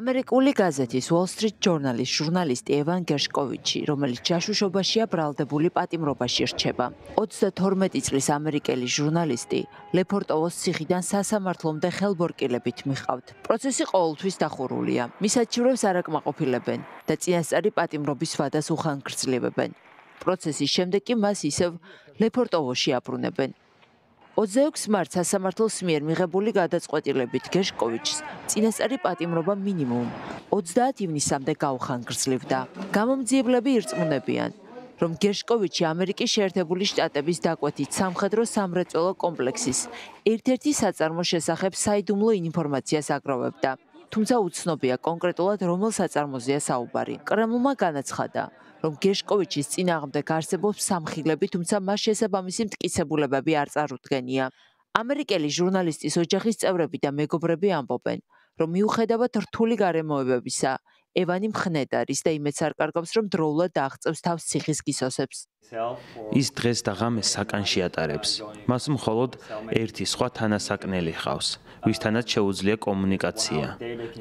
ამერიკული გაზეთის Wall Street Journal-ის ჟურნალისტი ევან გერშკოვიჩი, რომელიც ჯაშუშობაშია ბრალდებული პატიმრობაში რჩება. 32 წლის ამერიკელი ჟურნალისტი ლეპორტოვოს ციხიდან სასამართლომდე ხელბორკილებით მიყავთ. პროცესი ყოველთვის დახურულია. მის საჩივრებს არ აკმაყოფილებენ და წინასწარი პატიმრობის ვადას უხანგრძლივებენ. პროცესის შემდეგ კი მას ისევ ლეპორტოვოში აბრუნებენ. 26 მარტს სასამართლოს მიერ მიღებული გადაწყვეტილებით გერშკოვიჩს წინასწარი პატიმრობა მინიმუმ 30 ივნისამდე გაუხანგრძლივდა. გამომძიებლები ირწმუნებიან, რომ გერშკოვიჩი ამერიკის შეერთებული შტატების დაკვეთით სამხედრო სამრეწველო კომპლექსის ერთ-ერთი საწარმოს შესახებ საიდუმლო ინფორმაციას აგროვებდა. თუმცა უცნობია კონკრეტულად რომელ საწარმოზეა საუბარი. კრემლმა განაცხადა, რომ გერშკოვიჩის წინააღმდეგ არსებობს სამხილები, თუმცა მას შესაბამისი მტკიცებულებები არ წარუდგენია. ამერიკელი ჟურნალისტის ოჯახის წევრები და მეგობრები ამბობენ, რომ მიუხედავად რთული გარემოებებისა, ევანი მხნედ არის და იმედს არ კარგავს, რომ დროულად აღწევს თავს ციხის გისოსებს. ის დღეს და ღამეს საკანში ატარებს. მას მხოლოდ ერთი სხვა თანასაკნელი ჰყავს, ვისთანაც შეუძლია კომუნიკაცია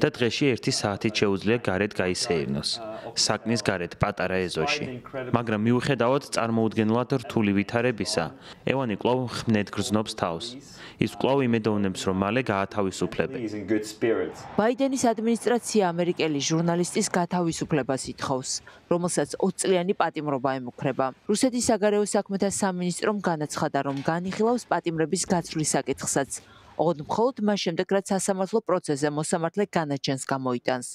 და დღეში 1 საათით შეუძლია გარეთ გაისეირნოს. საკნის გარეთ პატარა ეზოში. მაგრამ მიუხედავად წარმოუდგენლად რთული ვითარებისა, ევანი კვლავ ხმნედ გრძნობს თავს. ის კვლავ იმედოვნებს, რომ მალე გაათავისუფლებენ. ბაიდენის ადმინისტრაცია ამერიკელი ჟურნალისტის გათავისუფლებას ითხოვს, რომელსაც 20 წლიანი პატიმრობა ემუქრება. რუსეთის საგარეო საქმეთა სამინისტრომ განაცხადა, რომ განიხილავს პატიმრების გაცვლის საკითხსაც, ოღონდ მხოლოდ მას შემდეგ, რაც სასამართლო პროცესზე მოსამართლე განაჩენს გამოიტანს.